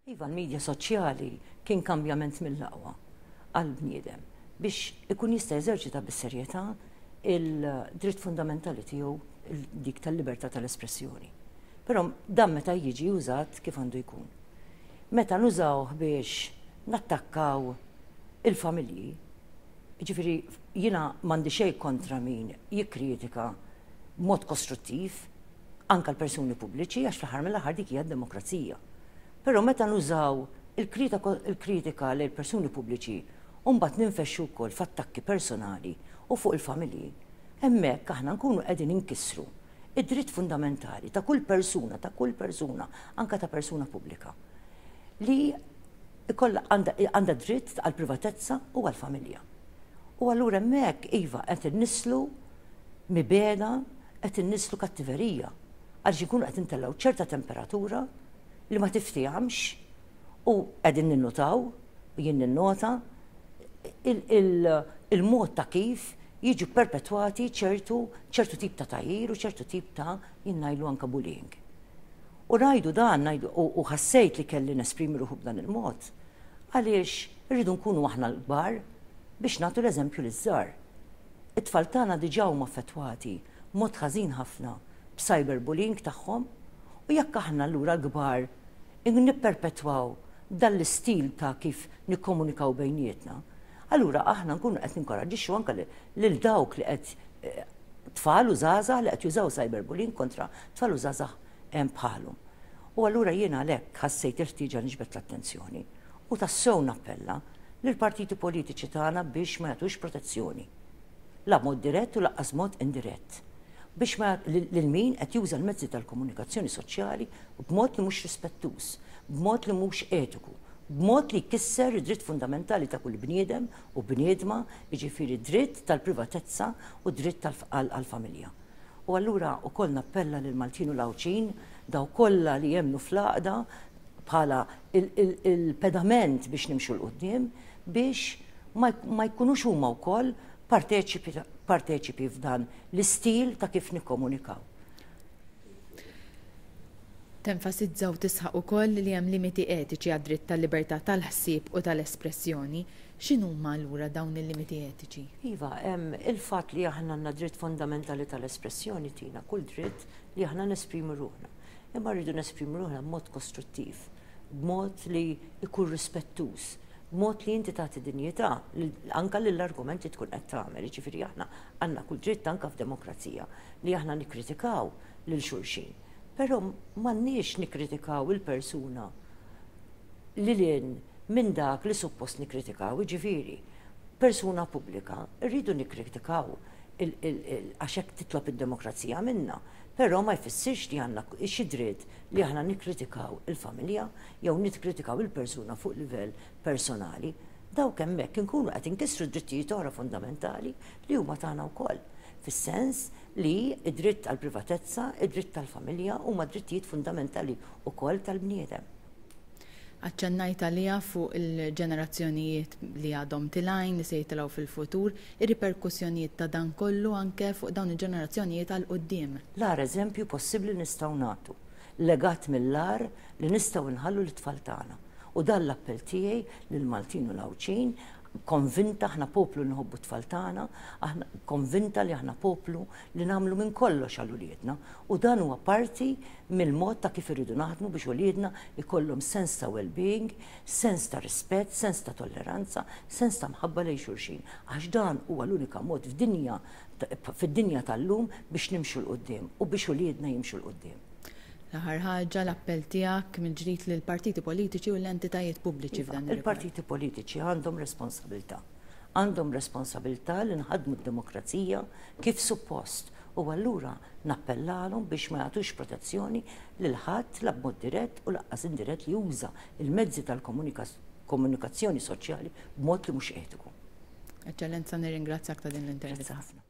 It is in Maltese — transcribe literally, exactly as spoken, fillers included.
Iva, l-medja soċjali kien kambjament mill-aqwa għal-bniedem biex ikun jista' jeżerċita bis-serjetà il-dritt fundamentali tiegħu, dik tal-libertà tal-espressjoni. Però dan meta jiġi użat kif għandu jkun. Meta nużawh biex nattakkaw il-familji, ġifieri jiena m'għandi xejn kontra min jikkritika b'mod kostruttiv anka l-persuni pubbliċi, għax fl-aħħar mill-aħħar dik hija d-demokrazija. Però meta nużaw il-kritika lil persuni pubbliċi u mbagħad ninfexxu wkoll f'attakki personali u fuq il-familji, hemmhekk aħna nkunu qegħdin inkissru id-dritt fundamentali ta' kull persuna, ta' kull persuna, anka ta' persuna pubblika, li ikolla għandha dritt għal privatezza u għal familja. U allura hemmhekk iva qed innislu mibegħda, qed innislu kattiverija, għaliex inkunu qed intellgħu ċerta temperatura li ma tiftijamx u qegħdin ninnutaw, u jien ninnota il-mod ta' kif jiġu perpetwati ċertu ċertu tip ta' tgħajjir u ċertu tip ta' jien ngħidlu anka bullying. U ngħidu dan, ngħidu, u ħassejt li kelli nesprimi ruħu b'dan il-mod, għaliex irridu nkunu aħna l-kbar biex nagħtu l-eżempju liż-żgħar. It-tfal tagħna diġà huma affettwati mod ħażin ħafna b'cyberbullying tagħhom, u jekk aħna allura l-kbar nipperpetwaw dan l-istil ta' kif nikkomunikaw bejnietna, allura aħna nkunu qed ninkoraġġixxu anke lil dawk li qed tfal u żgħażagħ li qed jużaw cyberbullying kontra tfal u żgħażagħ bħalhom. U allura jiena għalhekk ħassejt il-ħtieġa niġbed l-attenzjoni u tassew nappella lill-partiti politiċi tagħna biex ma jagħtux protezzjoni. La mod dirett u lanqas mod indirett. Biex ma lil min qed juża l-mezzi tal-komunikazzjoni soċjali b'mod li mhux rispettuż, b'mod li mhux etiku, b'mod li jkisser id-dritt fundamentali ta' kull bniedem u bniedma, jiġifieri dritt tal-privatezza u dritt għall-familja. U allura wkoll nappella lil Maltin u l-Għawdxin, daw kollha li jemmnu fl-għaqda bħala il-pedament biex nimxu 'l quddiem, biex ma jkunux huma wkoll parteċipi f'dan l-istil ta' kif nikkomunikaw. Tenfasizza u tisħaq ukoll li hemm limiti etiċi għad-dritt tal-libertà tal-ħsieb u tal-espressjoni. X'inhuma allura dawn il-limiti etiċi? Iva, il-fatt li aħna għandna dritt fundamentali tal-espressjoni tina kull dritt li aħna nesprimu ruħna. Imma rridu nesprimu ruħna b'mod kostruttiv, b'mod li jkun rispettuż, b'mod li inti tagħti dinjità anka lill-argument li tkun qed tagħmel. Jiġifieri aħna għandna kull dritt anka f'demokrazija li aħna nikkritikaw lil xulxin. Però m'għandniex nikkritikaw il-persuna lil hinn minn dak li suppost nikkritikaw, jiġifieri persuna pubblika rridu nikkritikaw għax hekk titlob id-demokrazija minna, però ma jfissirx li għandna xi dritt li aħna nikkritikaw il-familja jew nikkritikaw il-persuna fuq livell personali. Dawk hemmhekk inkunu qed inkissru drittijiet oħra fundamentali li huma tagħna wkoll. Fis-sens li id-dritt għall-privatezza, id-dritt tal-familja huma drittijiet fundamentali wkoll tal-bniedem. Aċċennajt għalija fuq il-ġenerazzjonijiet li għadhom tilgħin, li se jitilgħu fil-futur, ir-riperkussjonijiet ta' dan kollu anke fuq dawn il-ġenerazzjonijiet għal quddiem. L-agħar eżempju possibbli nistgħu nagħtu, legat mill-agħar li nistgħu nħallu l-tfal tagħna. U dan l-appell tiegħi lill-Maltin u l-Għawdxin, konvinta aħna poplu li nħobbu t-tfal tagħna, aħna konvinta li aħna poplu li nagħmlu minn kollox għal uliedna. U dan huwa parti mill-mod ta' kif irridu naħdmu biex uliedna ikollhom sens ta' well-being, sens ta' rispett, sens ta' tolleranza, sens ta' mħabba lejn xulxin. Għax dan huwa l-unika mod f'dinja fid-dinja tal-lum biex nimxu 'l quddiem u biex uliedna jimxu 'l quddiem. L-aħħar ħaġa, l-appell tiegħek mill-ġdid lill-partiti politiċi u l-entitajiet pubbliċi f'dan ir-rigward. Il-partiti politiċi għandhom responsabilità. Għandhom responsabilità li nħadmu d-demokrazija kif suppost. U allura nappellalhom biex ma jagħtux protezzjoni lil ħadd la b'mod dirett u lanqas indirett li juża il-mezzi tal-komunikazzjoni soċjali b'mod li mhux etiku. Eċċellenza, nirringrazzjak ta' din l-intervista. Grazzi ħafna.